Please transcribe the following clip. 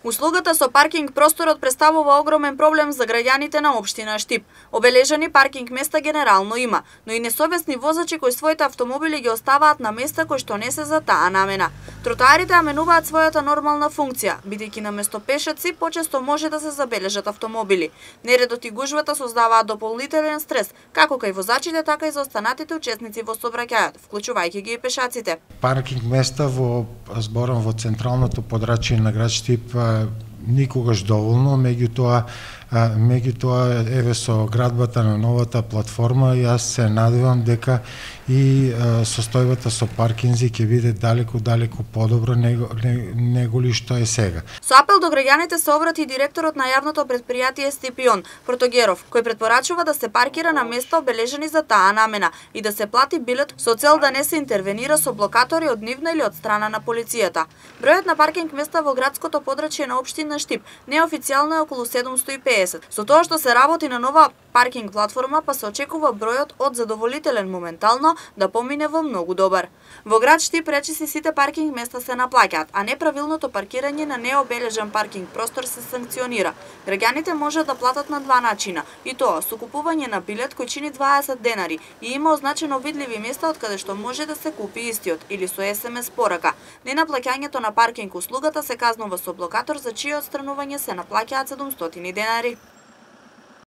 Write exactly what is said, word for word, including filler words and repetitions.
Услугата со паркинг просторот представува огромен проблем за граѓаните на општина Штип. Обележани паркинг места генерално има, но и несовесни возачи кои своите автомобили ги оставаат на места кои што не се за таа намена. Тротоарите аменуваат својата нормална функција, бидејќи наместо пешаци почесто може да се забележат автомобили. Нередот и гужвата создаваат дополнителен стрес, како кај возачите, така и за останатите учесници во сообраќајот, вклучувајќи ги и пешаците. Паркинг места во зборам во централното подрачје на град Штип никогаш доволно, меѓутоа меѓутоа еве со градбата на новата платформа јас се надевам дека и состојбата со паркинзи ќе биде далеку далеку подобро него, него ли што е сега. Со апел до граѓаните се обрати директорот на јавното предпријатие Стипион Протогеров, кој претпорачува да се паркира на места обележани за таа намена и да се плати билет со цел да не се интервенира со блокатори од нивна или од страна на полицијата. Бројот на паркинг места во градското подрачје на општина Штип неофицијално е околу седумсто и педесет. Со тоа што се работи на нова паркинг платформа, па се очекува бројот од задоволителен моментално да помине во многу добар. Во град Штип речиси сите паркинг места се наплаќаат, а неправилното паркирање на необележан паркинг простор се санкционира. Граѓаните може да платат на два начина, и тоа со купување на билет кој чини дваесет денари и има означено видливи места од каде што може да се купи истиот, или со ес ем ес порака. Ненаплаќањето на паркинг услугата се казнува со блокатор, за чие отстранување се наплаќаат седумстотини денари.